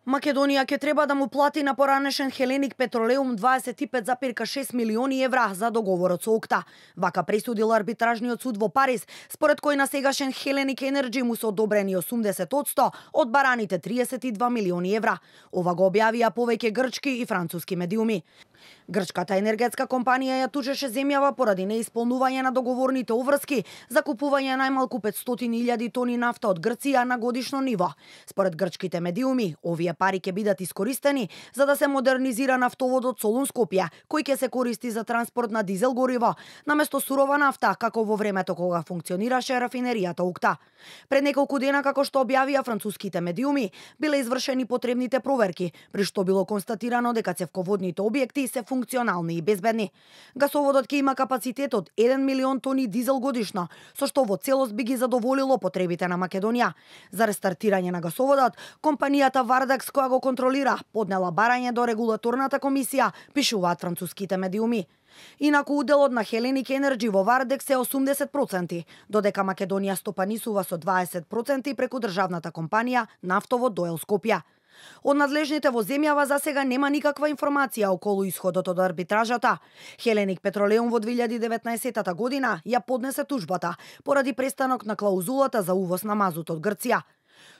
Македонија ќе треба да му плати на поранешен Хеленик Петролеум 25,6 милиони евра за договорот со ОКТА. Вака пресудил арбитражниот суд во Париз, според кој на сегашен Хеленик Енерджи му се одобрени 80% од бараните 32 милиони евра. Ова го објавија повеќе грчки и француски медиуми. Грчката енергетска компанија ја тужеше земјава поради неисполнување на договорните обврски за купување најмалку 500.000 тони нафта од Грција на годишно ниво. Според грчките медиуми, овие пари ќе бидат искористени за да се модернизира нафтоводот Солун-Скопје, кој ќе се користи за транспорт на дизел гориво, наместо сурова нафта, како во времето кога функционираше рафинеријата ОКТА. Пред неколку дена, како што објавија француските медиуми, биле извршени потребните проверки, при што било констатирано дека цевководните објекти се функционални и безбедни. Гасоводот ќе има капацитет од 1 милион тони дизел годишно, со што во целост би ги задоволило потребите на Македонија. За рестартирање на гасоводот, компанијата Вардекс, која го контролира, поднела барање до регулаторната комисија, пишуваат француските медиуми. Инаку уделот на Хеленик Енерджи во Вардекс е 80%, додека Македонија стопанисува со 20% преку државната компанија Нафтовод Доел Скопје. Од надлежните во земјава за сега нема никаква информација околу исходот од арбитражата. Хеленик Петролеум во 2019 година ја поднесе тужбата поради престанок на клаузулата за увоз на мазут од Грција.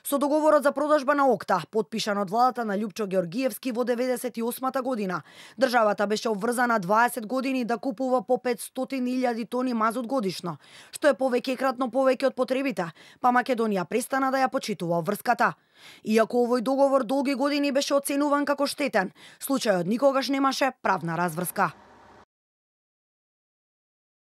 Со договорот за продажба на ОКТА, подпишан од владата на Љупчо Георгиевски во 98 година, државата беше обврзана 20 години да купува по 500.000 тони мазут годишно, што е повеќекратно повеќе од потребите, па Македонија престана да ја почитува обврската. Иако овој договор долги години беше оценуван како штетен, случајот никогаш немаше правна разврска.